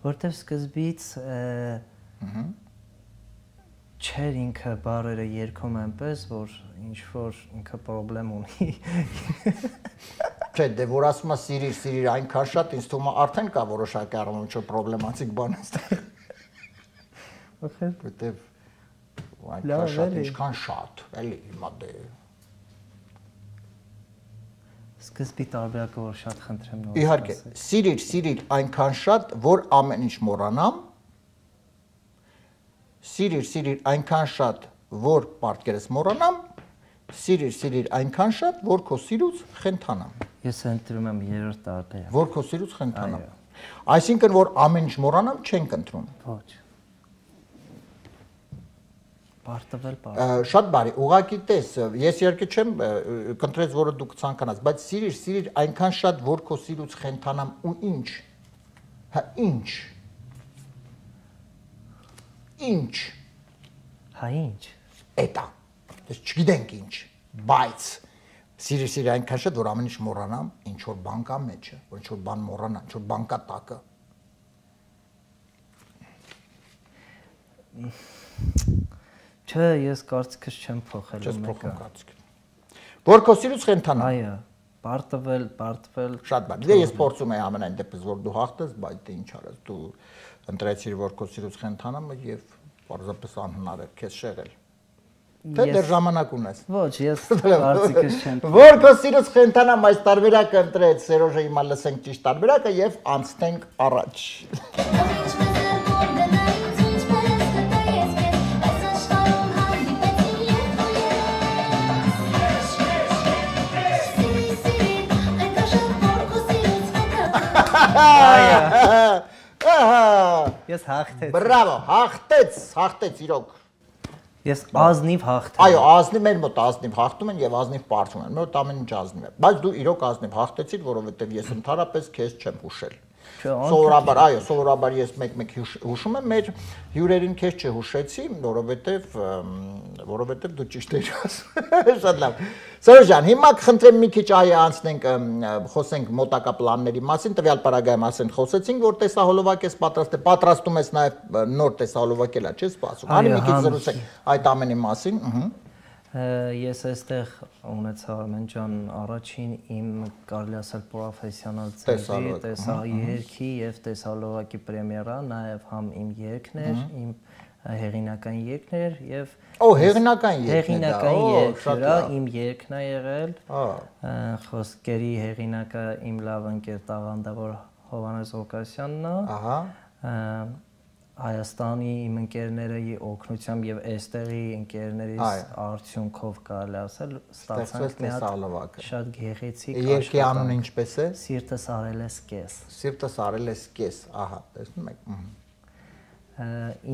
Որտեղ սկզբից չէր ինքը բառերը երգում այնպես, որ ինչ-որ ինքը պրոբլեմ ունի։ Չէ, դե որ ասում է սիրիր, սիրիր այնքան շատ, ինձ թվում է արդեն կա որոշակի առումով ինչ-որ պրոբլեմատիկ բան այստեղ։ Որտեղ այնքան շատ, ինչքան շատ, էլի հիմա դե։ Սկզբի տարբերակը որ շատ խնդրեմ նոր։ Իհարկե, սիրիր, սիրիր այնքան շատ, որ ամեն ինչ մոռանամ։ Սիրիր, սիրիր այնքան շատ, որ պարտքերս մոռանամ, սիրիր, սիրիր այնքան շատ, որ քո սիրուց խենթանամ։ Ես ընտրում եմ երրորդ տարբերակ։ Որ քո սիրուց խենթանամ։ Այսինքն որ ամեն ինչ մոռանամ, չենք ընտրում։ Ոչ։ Պարտվել, պարտվել։ Շատ բարի, ուղղակի տես, ես իհարկե չեմ կընտրեց, որը դուք ցանկանաց, բայց սիրիր, սիրիր այնքան շատ, որ քո սիրուց խենթանամ ու ինչ։ Հա ինչ։ Ինչ։ Հա ինչ։ Էտա։ Ես չգիտենք ինչ, բայց սիրիր, սիրիր այնքան շատ, որ ամեն ինչ մոռանամ, ինչ որ բան կա մեջը, որ ինչ որ բան մոռանամ, ինչ որ բան կա տակը։ Չէ, ես կարծիքս չեմ փոխել Չես փոխում կարծիքս։ Որ քո սիրուց խենթանամ։ Այո, պարտվել, պարտվել։ Շատ բան։ Դե ես փորձում եմ ամենայն դեպս, որ դու հաղթես, բայց դե ինչ արես, դու ընտրեցիր, որ քո սիրուց խենթանամ եւ պարզապես անհնար է քեզ շեղել։ Թե դեռ ժամանակ ունես։ Ոչ, ես կարծիքս չեմ փոխել։ Որ քո սիրուց խենթանամ այս տարբերակը ընտրեց Սերոժը, հիմա լսենք ճիշտ տարբերակը եւ անցնենք առաջ։ Ես հաղթեցի։ Բրավո, հաղթեց, հաղթեց իրոք։ Ես ազնիվ հաղթեմ։ Այո, ազնիվ մեր մոտ ազնիվ հաղթում են եւ ազնիվ պարտում են։ Մոտ ամեն ինչ ազնիվ է։ Բայց դու իրոք ազնիվ հաղթեցիր, որովհետեւ ես ընդհանրապես քեզ չեմ հուշել։ Սովորաբար, այո, սովորաբար ես մեկ-մեկ հուշում եմ, մեր հյուրերին քեզ չհուշեցի, որովհետեւ որովհետեւ դու ճիշտ ես ասում։ Շատ լավ։ Սերոժ ջան, հիմա կխնդրեմ մի քիչ այ անցնենք, խոսենք մոտակա պլանների մասին, տվյալ պարագայում ասեն խոսեցինք, որ տեսահոլովակ ես պատրաստ, պատրաստում ես նաև նոր տեսահոլովակ էլա, չես սպասում։ Հանի մի քիչ զրուցենք այդ ամենի մասին, ըհը։ Ես այստեղ ունեցա Արմեն ջան առաջին իմ կարելի ասել պրոֆեսիոնալ ծրագրի տեսա երգի եւ տեսահոլովակի պրեմիերա, նաեւ համ իմ երգն էր, իմ հեղինակային երգն էր եւ Օ, հեղինակային երգն է։ Հեղինակային երգը իմ երգն է եղել։ Խոսքերի հեղինակը իմ լավ ընկեր տաղանդավոր Հովհաննես Ղուկասյանն է։ Ահա։ Հայաստանի իմ ընկերների օգնությամբ եւ այստեղի ընկերներից արդյունքով կարելի ասել ստացանք մի հատ շատ գեղեցիկ երգի անունը ինչպես է։ Սիրտս արել ես կես։ Սիրտս արել ես կես, ահա, տեսնում եք։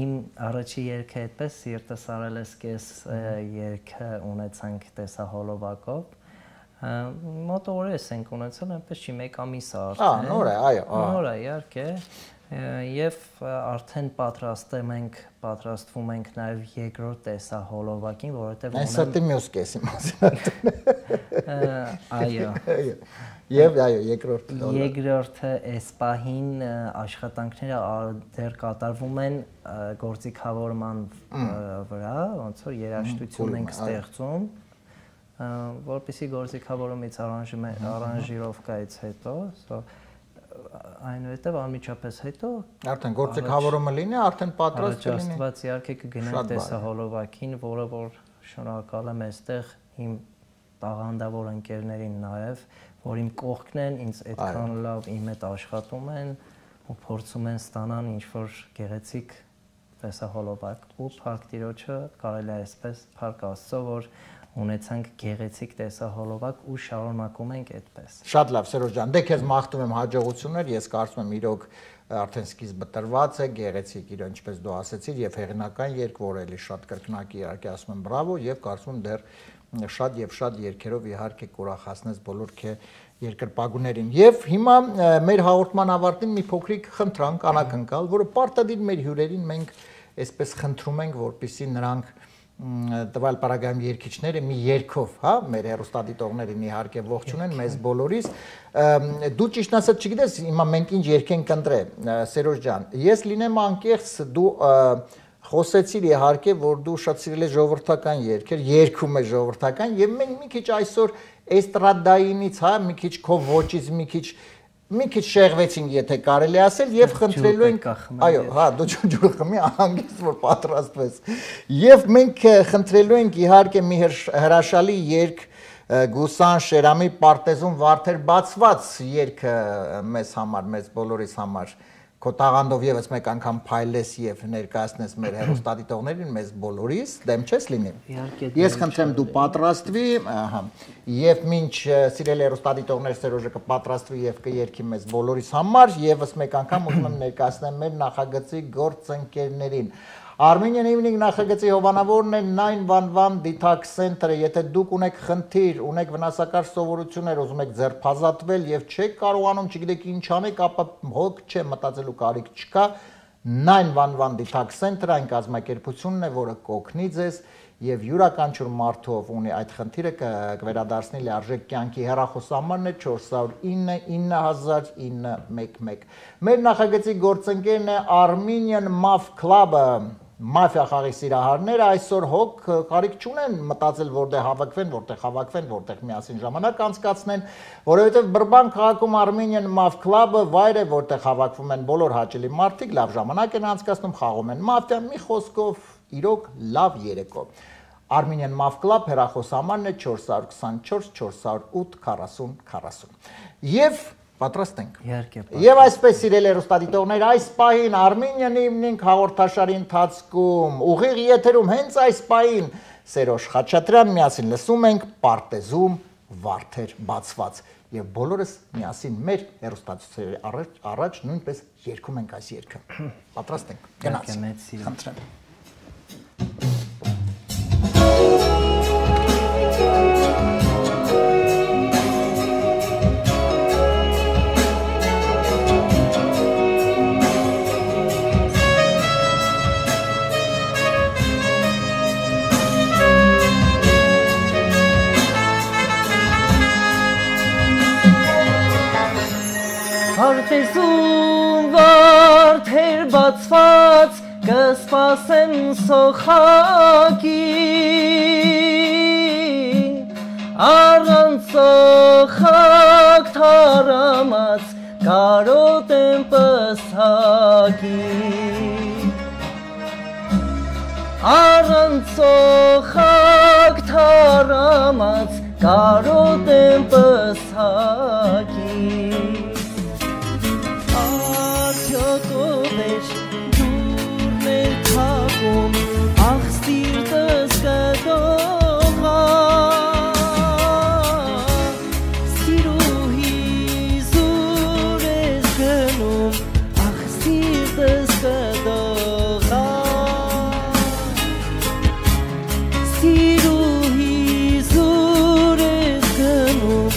Իմ առաջի երգը այդպես Սիրտս արել ես կես երգը ունեցանք տեսահոլովակով։ Մոտ օրես ենք ունեցել, այնպես չի մեկ ամիս արդեն։ Ահա, նոր է, այո, նոր է, իհարկե։ Եվ արդեն պատրաստում ենք, պատրաստվում ենք նաև երկրորդ տեսահոլովակին, որովհետև ունեմ Այս մյուս կեսի մասին։ Այո։ Եվ այո, երկրորդ Երկրորդը այս պահին աշխատանքները դեռ կատարվում են գործիքավորման վրա, ոնց որ երաժշտություն ենք ստեղծում, որպեսզի գործիքավորումից արանժիրովկայից հետո, այնուհետև անմիջապես հետո արդեն գործիքավորումը լինի, արդեն պատրաստ կլինի։ Առաջաստված իհարկե կգնանք տեսահոլովակին, որը որ շնորհակալ եմ այստեղ իմ տաղանդավոր ընկերներին նաև, որ իմ կողքն են, ինձ այդքան լավ իմ հետ աշխատում են ու փորձում են ստանալ ինչ-որ գեղեցիկ տեսահոլովակ ու Փառք Տիրոջը կարելի է այսպես Փառք Աստծո, որ ունեցանք գեղեցիկ տեսահոլովակ ու շարունակում ենք այդպես։ Շատ լավ, Սերոժ ջան, դե քեզ մաղթում եմ հաջողություններ, ես կարծում եմ իրոք արդեն սկիզբը տրված է, գեղեցիկ իրոք ինչպես դու ասացիր եւ հեղինական երգ, որ էլի շատ կրկնակի իհարկե ասում եմ բրավո եւ կարծում եմ դեռ շատ եւ շատ երգերով իհարկե կուրախացնես բոլոր քե երկրպագուներին։ Եվ հիմա մեր հաղորդման ավարտին մի փոքրիկ խնդրանք անակնկալ, որը պարտադիր մեր հյուրերին մենք այսպես խնդրում ենք, որպեսզի նրանք տվյալ պարագայում երգիչները մի երգով, հա, մեր հեռուստադիտողներին իհարկե ողջունեն մեզ բոլորիս։ Դու ճիշտ ասած չգիտես, հիմա մենք ինչ երգ ենք ընտրել, Սերոժ ջան։ Ես լինեմ անկեղծ, դու խոսեցիր իհարկե, որ դու շատ սիրել ես ժողովրդական երգեր, երգում ես ժողովրդական, եւ մենք մի քիչ այսօր էստրադայինից, հա, մի քիչ քո ոճից, մի քիչ մի քիչ շեղվեցինք, եթե կարելի ասել, եւ խնդրելու ենք, այո, հա, դու ջուր խմի, անգից որ պատրաստվես։ Եվ մենք խնդրելու ենք իհարկե մի հրաշալի երգ Գուսան Շերամի Պարտեզում Վարդեր բացված երգը մեզ համար, մեզ բոլորիս համար։ Քո տաղանդով եւս մեկ անգամ փայլես եւ ներկայացնես մեր հեռուստադիտողներին, մեզ բոլորիս, դեմ չես լինի։ Ես խնդրեմ դու պատրաստվի, ահա, եւ մինչ սիրելի հեռուստադիտողներ Սերոժը կպատրաստվի եւ կերքի մեզ բոլորիս համար, եւս մեկ անգամ ուզում եմ ներկայացնել մեր նախագծի գործընկերներին։ Armenian Evening նախագծի հովանավորն է nine one one Detox Center-ը, եթե դուք ունեք խնդիր, ունեք վնասակար սովորություններ, ուզում եք ձերբազատվել եւ չեք կարողանում, չգիտեք ինչ անեք, ապա հոգ չէ, մտածելու կարիք չկա, nine one one Detox Center-ը այն կազմակերպությունն է, որը կօգնի ձեզ եւ յուրաքանչյուր մարդով ունի այդ խնդիրը կվերադարձնի լիարժեք կյանքի հեռախոսահամարն է four zero nine nine zero zero nine one one։ Մեր նախագծի գործընկերն է Armenian Maf Club-ը, մաֆիա խաղի սիրահարները այսօր հոգ կարիք չունեն մտածել որտեղ հավաքվեն, որտեղ հավաքվեն, որտեղ միասին ժամանակ անցկացնեն, որովհետև Բրբան քաղաքում Armenian Maf Club-ը վայր է, որտեղ հավաքվում են բոլոր հաճելի մարդիկ, լավ ժամանակ են անցկացնում, խաղում են մաֆիա, մի խոսքով իրոք լավ երեկո։ Armenian Maf Club հեռախոսահամարն է four two four four four eight four zero four zero։ Եվ պատրաստ ենք։ Իհարկե։ Եվ այսպես սիրելի հեռուստադիտողներ, այս պահին Armenian Evening հաղորդաշարի ընթացքում ուղիղ եթերում հենց այս պահին Սերոժ Խաչատրյան միասին լսում ենք Պարտեզում վարդեր բացված եւ բոլորս միասին մեր հեռուստացույցերի առաջ առաջ նույնպես երգում ենք այս երգը։ Պատրաստ ենք։ Գնացինք։ Խնդրեմ։ Պարտեզում վարդեր բացված կսպասեմ սոխակին, առանց սոխակ թարամած կարոտ եմ պսակին, առանց սոխակ թարամած կարոտ եմ պսակին, Յոկովեր դուրն է թաղում, ախ սիրտս կդողա, սիրուհի զուր ես գնում, ախ սիրտս կդողա, սիրուհի զուր ես գնում,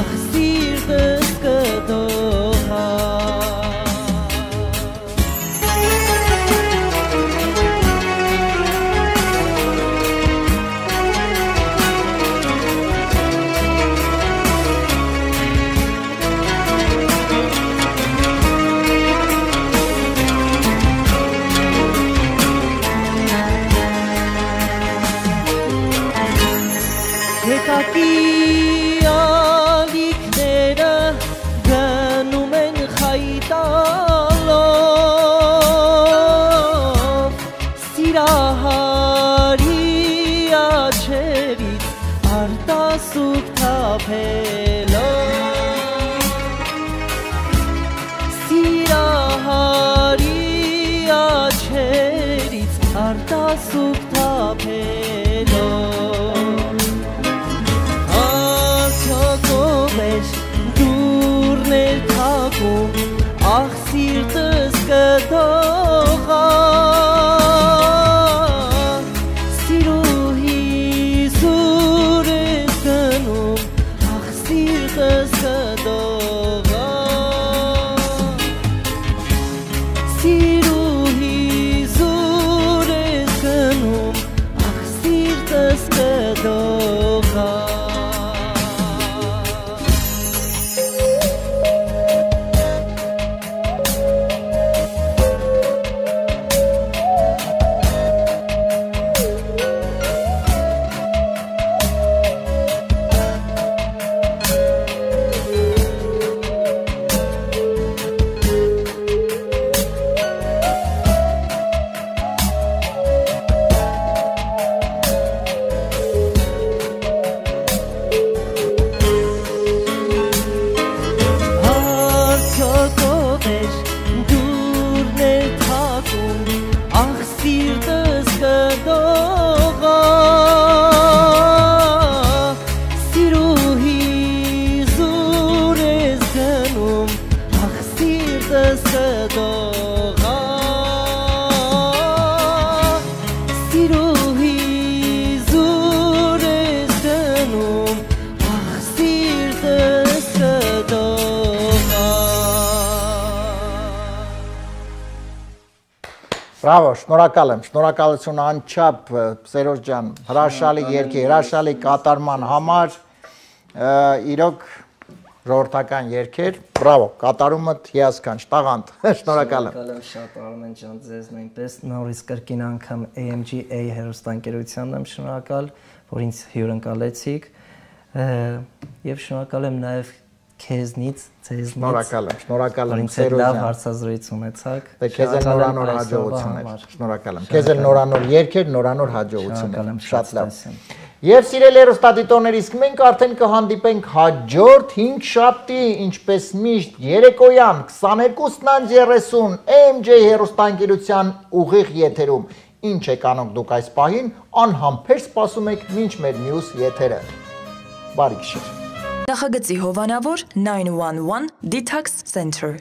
ախ սիրտս կդողա, Եկակի ալիքները գնում են խայտալով, սիրահարի աչերից արտասուք թափելով, սիրահարի աչերից արտասուք թափելով, դուրն է թաղում, ախ սիրտս կդողա, սիրուհի զուր ես գնում, ախ սիրտս կդողա, սիրուհի զուր ես գնում, ախ սիրտս կդողա, Բրավո, շնորհակալ եմ, շնորհակալություն անչափ Սերոջ ջան, հրաշալի երգի, հրաշալի կատարման համար, իրոք ժողովրդական երգեր, բրավո, կատարումդ հիասքանչ, տաղանդ, շնորհակալ եմ։ Շնորհակալ եմ շատ Արմեն ջան, ձեզ նույնպես նորից կրկին անգամ A M G A հեռուստաընկերությանն եմ շնորհակալ, որ ինձ հյուրընկալեցիք, եւ շնորհակալ եմ նաեւ քեզնից, ձեզնից։ Շնորհակալ եմ, շնորհակալ եմ Սերոջ ջան։ Լավ հարցազրույց ունեցաք։ Դե քեզ էլ նորանոր հաջողություններ։ Շնորհակալ եմ։ Քեզ էլ նորանոր երգեր, նորանոր հաջողություններ։ Շատ լավ։ Եվ սիրելի հեռուստադիտողներ, իսկ մենք արդեն կհանդիպենք հաջորդ հինգ շաբթի, ինչպես միշտ երեկոյան քսաներկուսն երեսուն A M G հեռուստաընկերության ուղիղ եթերում։ Ինչ եք անում դուք այս պահին, անհամբեր սպասում եք մինչ մեր մյուս եթերը։ Բարի գիշեր։ Նախագծի հովանավոր nine one one Detox Center